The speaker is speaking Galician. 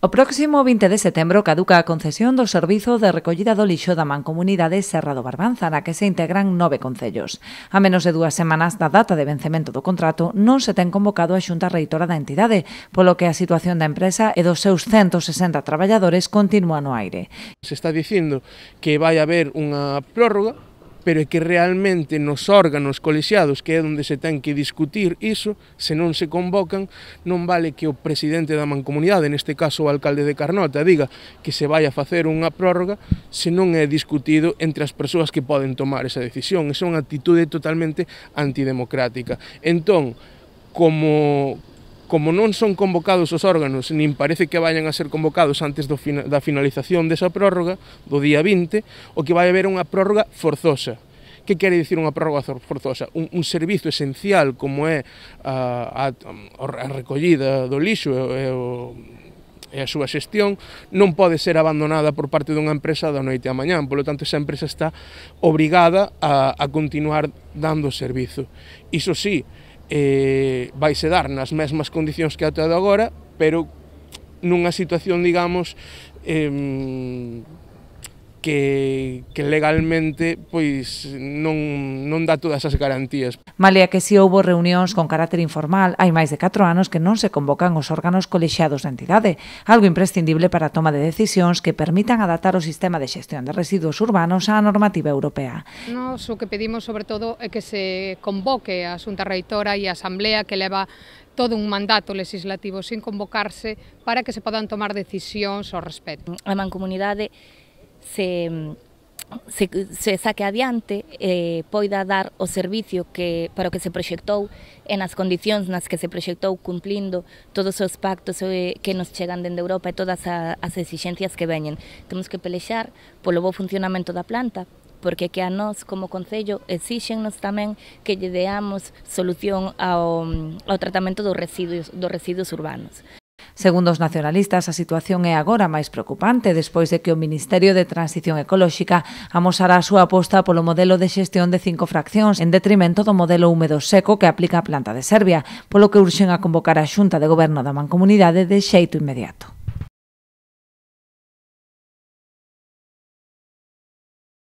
O próximo 20 de setembro caduca a concesión do servizo de recollida do lixo da Mancomunidade Serra do Barbanza, na que se integran 9 concellos. A menos de 2 semanas da data de vencemento do contrato, non se ten convocado a Xunta Reitora da entidade, polo que a situación da empresa e dos seus 160 traballadores continúa no aire. Se está dicindo que vai haber unha prórroga, pero é que realmente nos órganos colexiados, que é onde se ten que discutir iso, se non se convocan, non vale que o presidente da mancomunidade, neste caso o alcalde de Carnota, diga que se vai a facer unha prórroga se non é discutido entre as persoas que poden tomar esa decisión. Esa é unha actitude totalmente antidemocrática. Entón, como non son convocados os órganos, nin parece que vayan a ser convocados antes da finalización desa prórroga, do día 20, o que vai haber unha prórroga forzosa. Que quere dicir unha prórroga forzosa? Un servizo esencial como é a recollida do lixo e a súa xestión non pode ser abandonada por parte dunha empresa da noite á mañán, polo tanto esa empresa está obrigada a continuar dando servizo. Iso sí, vaise dar nas mesmas condicións que ata agora, pero nunha situación, digamos, que legalmente pois non dá todas as garantías. Malia que si houbo reunións con carácter informal, hai máis de 4 anos que non se convocan os órganos colexiados da entidade, algo imprescindible para a toma de decisións que permitan adaptar o sistema de xestión de residuos urbanos á normativa europea. Nos o que pedimos sobre todo é que se convoque a Xunta Reitora e a Asamblea que leva todo un mandato legislativo sin convocarse para que se podan tomar decisións ao respecto. A mancomunidade se saque adiante poida dar o servicio para o que se proxectou e nas condicións nas que se proxectou cumplindo todos os pactos que nos chegan dende Europa e todas as exixencias que veñen. Temos que pelexar polo bo funcionamento da planta, porque que a nós como Concello exíxennos tamén que lle deamos solución ao tratamento dos residuos urbanos. Segundo os nacionalistas, a situación é agora máis preocupante despois de que o Ministerio de Transición Ecolóxica amosara a súa aposta polo modelo de xestión de 5 fraccións en detrimento do modelo húmedo seco que aplica a planta de Serbia, polo que urxen a convocar a Xunta de Goberno da Mancomunidade de xeito inmediato.